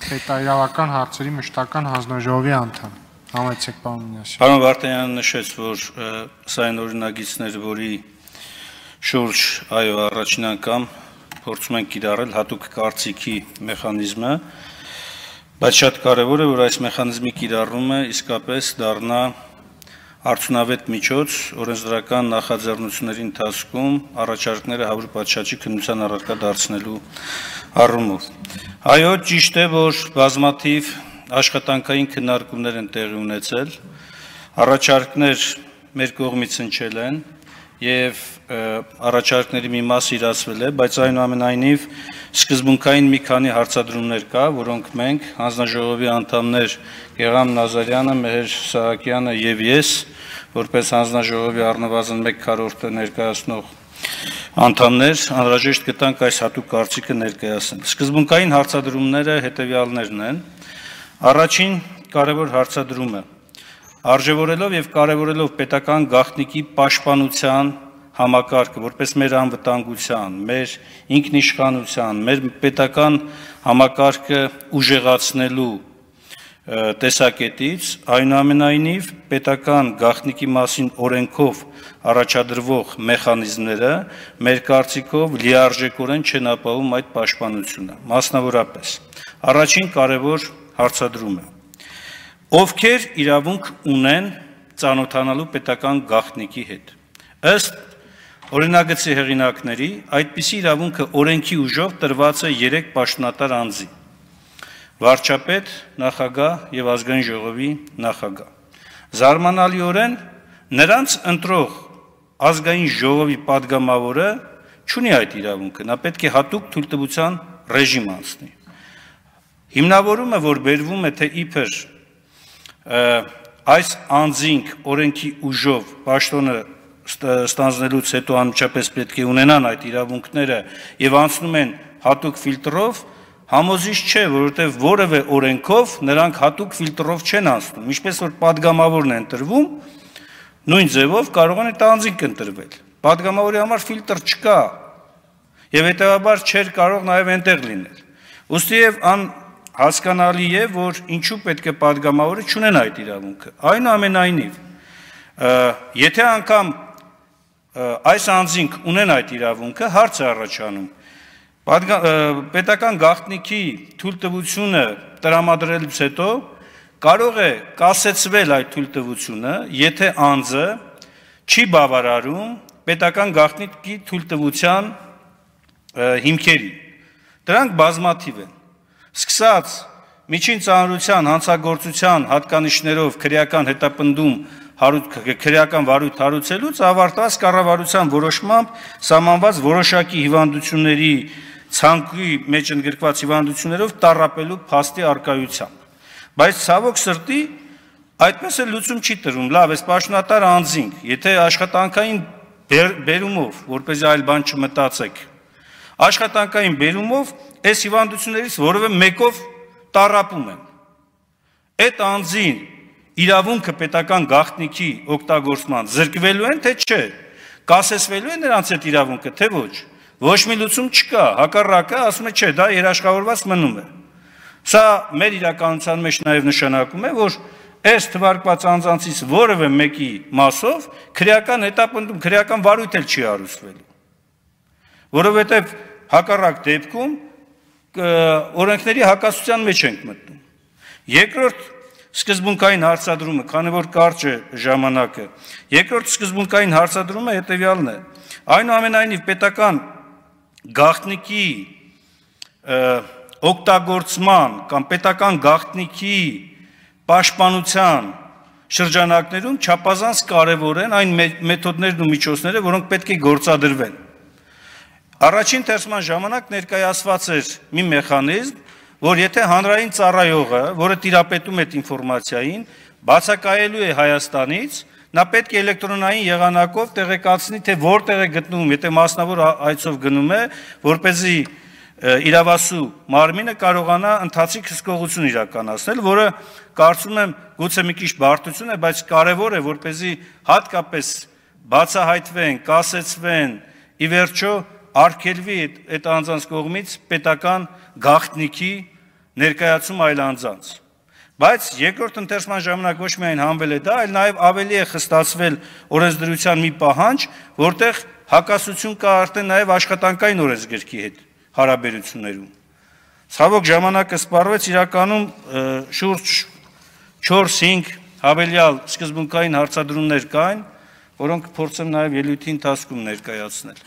Պետաիրավական հարցերի մշտական հանձնաժողովի անդամ։ Համեցեք, պարոն Մինասյան։ Պարոն Վարդանյանը նշեց, որ սա այն օրինագիծներ, որի շուրջ առաջին անգամ փորձում ենք կիրառել հատուկ կարծիքի մեխանիզմը, բայց շատ կարևոր է, որ այս մեխանիզմի կիրառումը իսկապես դառնա արդյունավետ միջոց օրենսդրական նախաձեռնությունների ընթացքում առաջարկները հավուր պատշաճի քննության առարկա դարձնելու առումով։ Այո, ճիշտ է, որ բազմաթիվ աշխատանքային քննարկումներ են տեղի ունեցել, առաջարկներ մեր կողմից հնչել են եւ առաջարկների մի մասը իրացվել է, բայց այնուամենայնիվ սկզբունքային մի քանի հարցադրումներ կա, որոնք մենք հանձնաժողովի անդամներ Գեգամ Նազարյանը, Մեհեր Սահակյանը եւ ես, որպես հանձնաժողովի առնվազն 1/4-ը ներկայացնող անդամներ, անհրաժեշտ գտանք այս հատուկ կարծիքը ներկայացնել։ Սկզբունքային հարցադրումները հետեւյալներն են. Առաջին կարևոր հարցադրումը արժևորելով եւ կարևորելով պետական գաղտնիքի պաշտպանության համակարգը, որպես մեր անվտանգության, մեր ինքնիշխանության, մեր պետական համակարգը ուժեղացնելու տեսակետից, այնուամենայնիվ պետական գաղտնիքի մասին օրենքով առաջադրվող մեխանիզմները մեր կարծիքով լիարժեքորեն չեն ապահովում այդ պաշտպանությունը։ Մասնավորապես, առաջին կարևոր հարցադրումը. ովքեր իրավունք ունեն ծանոթանալու պետական գաղտնիքի հետ։ Ըստ օրինագծի հեղինակների, այդպիսի իրավունքը օրենքի ուժով տրված է 3 պաշտոնատար անձի՝ վարչապետ, նախագահ եւ ազգային ժողովի նախագահ։ Զարմանալիորեն նրանց ընտրող ազգային ժողովի падգամավորը չունի այդ իրավունքը, նա պետք է հատուկ թույլտվության ռեժիմ անցնի։ Հիմնավորումը, որ բերվում է, թե իբր այս անձինք օրենքի ուժով պաշտոնը ստանձնելուց հետո անմիջապես պետք է ունենան այդ իրավունքները եւ անցնում են հատուկ ֆիլտրով, համոզիչ չէ, որովհետեւ որևէ օրենքով նրանք հատուկ ֆիլտրով չեն անցնում, ինչպես որ падգամավորն է ընտրվում, նույն ձևով կարող են այդ անձինք ընտրվել։ Падգամավորի համար ֆիլտր չկա եւ հետեւաբար չէր կարող նաեւ այնտեղ լինել։ Ուստի եւ հասկանալի է, որ ինչու պետք է падգամավորը չունեն այդ իրավունքը։ Այնուամենայնիվ, եթե անգամ այս անձինք ունեն այդ իրավունքը, հարց է առաջանում, պետական գաղտնիքի թույլտվությունը տրամադրելուց հետո կարող է կասեցվել այդ թույլտվությունը, եթե անձը չի բավարարում պետական գաղտնիքի թույլտվության հիմքերին։ Դրանք բազմաթիվ են։ Սկսած միջին ծանրության հանցագործության հատկանիշներով քրեական հետապնդում քրեական վարույթ հարուցելուց ավարտված կառավարության որոշմամբ սահմանված որոշակի հիվանդությունների ցանկի մեջ ընդգրկված հիվանդություններով տառապելու փաստի արկայությամբ։ Բայց ցավոք սրտի այդպես էլ լուծում չի տրվում։ Լավ, այս պաշտոնատար անձինք, եթե աշխատանքային բերումով, որպեսզի այլ բան չմտածեք, աշխատանքային բերումով այս հիվանդություններից որևէ մեկով տառապում են։ Այդ անձին իրավունքը պետական գաղտնիքի օգտագործման զրկվելու են, թե չէ, կասեցվելու է նրանց այդ իրավունքը, թե ոչ։ Ոչ մի լուծում չկա, հակառակը ասում է, չէ, դա երաշխավորված մնում է։ Սա մեր իրականության մեջ նաև նշանակում է, որ այս թվարկված անձանցից որևէ մեկի մասով քրեական հետապնդում, քրեական վարույթ էլ չի հարուցվելու։ Որովհետև հակառակ դեպքում օրենքների հակասության մեջ ենք մտնում։ Երկրորդ սկզբունքային հարցադրումը, քանի որ կարճ է ժամանակը, երկրորդ սկզբունքային հարցադրումը հետևյալն է. այնուամենայնիվ պետական գաղտնիքի օգտագործման կամ պետական գաղտնիքի պաշտպանության շրջանակներում չափազանց կարևոր են այն մեթոդներն ու միջոցները, որոնք պետք է գործադրվեն։ Առաջին թերթման ժամանակ ներկայացված էր մի մեխանիզմ, որ եթե հանրային ծառայողը, որը տիրապետում է այդ ինֆորմացիային, բացակայելու է Հայաստանից, նա պետք է էլեկտրոնային եղանակով տեղեկացնի, թե որտեղ է գտնվում, եթե մասնավոր այցով գնում է, որպեսզի իրավասու մարմինը կարողանա ընթացիկ հսկողություն իրականացնել, որը կարծում եմ գուցե մի քիչ բարդություն է, բայց կարևոր է, որպեսզի հատկապես բացահայտվեն, կասեցվեն, ի վերջո արգելվի այդ անձանց կողմից պետական գաղտնիքի ներկայացում այլ անձանց։ Բայց երկրորդ ընթերցման ժամանակ ոչ միայն հանվել է դա, այլ նաև ավելի է խստացվել օրենսդրության մի պահանջ, որտեղ հակասություն կա արդեն նաև աշխատանքային օրենսգրքի հետ հարաբերություններում։ Ցավոք ժամանակը սպառվեց, իրականում շուրջ 4-5 հավելյալ սկզբունքային հարցադրումներ կային, որոնք փորձեմ նաև ելույթի ընթացքում ներկայացնել։